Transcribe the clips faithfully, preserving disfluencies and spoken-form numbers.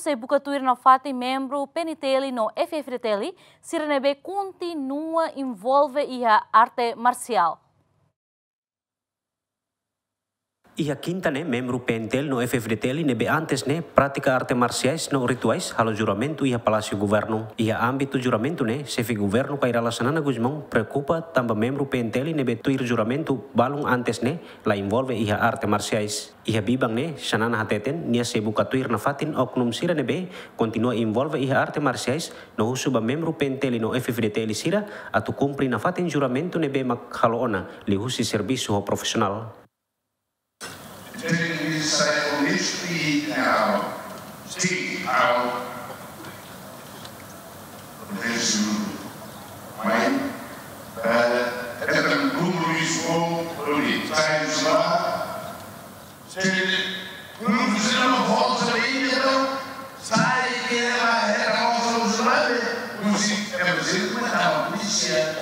sei buka tuir nafatin membru P N T L no F F D T L sira ne'ebé kontinua envolve iha arte marsiál. Iha kinta ne'e, membru P N T L no F F D T L ne'ebé antes ne'e pratika arte marsiais no rituais halo juramentu iha Palásiu Governu. Iha ámbitu juramentu ne'e, xefe governu Kay Rala Xanana Gusmão preokupa tanba membru P N T L ne'ebé tuir juramentu balun antes ne'e la envolve iha arte marsiais. Iha biban ne'e, Xanana hateten, nia sei buka tuir nafatin oknum sira ne'ebé kontinua envolve iha arte marsiais, no husu ba membru P N T L no F F D T L sira atu kumpre nafatin juramentu ne'ebé mak halo ona, liuhusi servisu ho profisionál. Tenho que sair com isto e não. Sim, não. Acontece muito. Mãe, eh, é um compromisso bom para mim. Sai de lá. Se não fizer uma volta ainda, não. Sai que ela era a volta do Zulabe. Não sei, é preciso, mas não, polícia.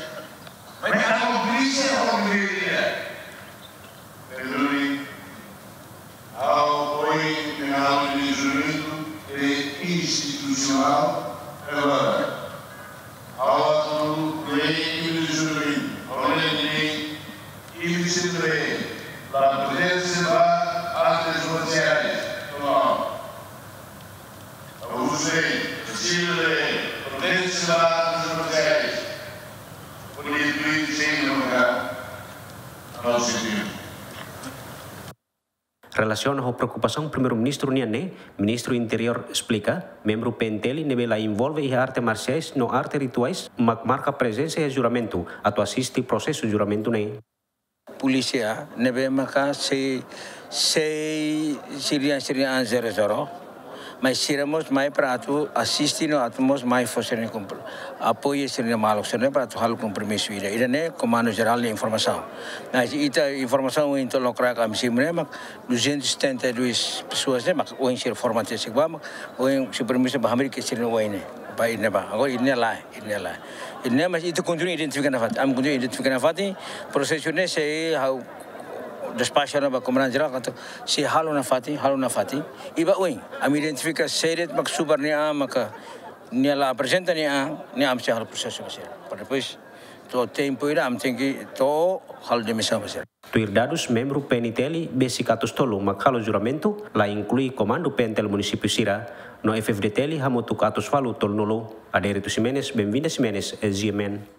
Mas não, polícia, não, polícia. Pedro, ha'u ohin, ha'u-nia juramentu é institusionál, agora, ha'u atu lei nia juramentu, ha'u lei nia inibe, la pertense ba artes marsiais, não. Ha'u sei, Chile, pertense ba artes marsiais, pode tuir sei no lugar, não sei. Relasiona ho preokupasaun Primeiru-Ministru nian ne'e, Ministru Interiór esplika, membru P N T L ne'ebé la envolve iha arte marsiais no arte rituais mak marka prezensa iha juramentu atu asiste prosesu juramentu ne'e. Polísia ne'ebé maka sei, sei sira-nia, sira-nia an zero zero. Mas sira mós mai para atu asiste no atu mós mai fó sira-nia kompro-, apoiu sira-nia maluk sira-ne'e para atu halo kompromisu ida. Ida-ne'e Komandu Jerál nia informasaun. Mas ita informasaun ohin to'o lokraik ami simu ne'e mak duzentos e setenta e dois pessoas ne'e mak ohin sira forma te sigba mak ohin sira permite ba hamriik sira-nia oin ne'e. Ba ida-ne'e ba. Agora ida-ne'e lae, ida-ne'e lae. Ida-ne'e mas ita kontinua identifika nafatin. Ami kontinua identifika nafatin. Prosesu ne'e sei ha'u despaxa ona ba Komandante Jerál katak sei halo nafatin, halo nafatin. I ba oin, ami identifika sé de'it mak subar nia an, maka nia la aprezenta nia an, nia an sei halo prosesu ba sira. Para depois, to'o tempu ida, ami tenke to'o halo demisaun ba sira. Tuir dadus, membru P N T L besik atus tolu mak halo juramentu, la inklui komandu P N T L munisípiu sira, no F F D T L hamutuk atus ualu tolunulu. Adérito Ximenes, Benvinda Ximenes, G M N.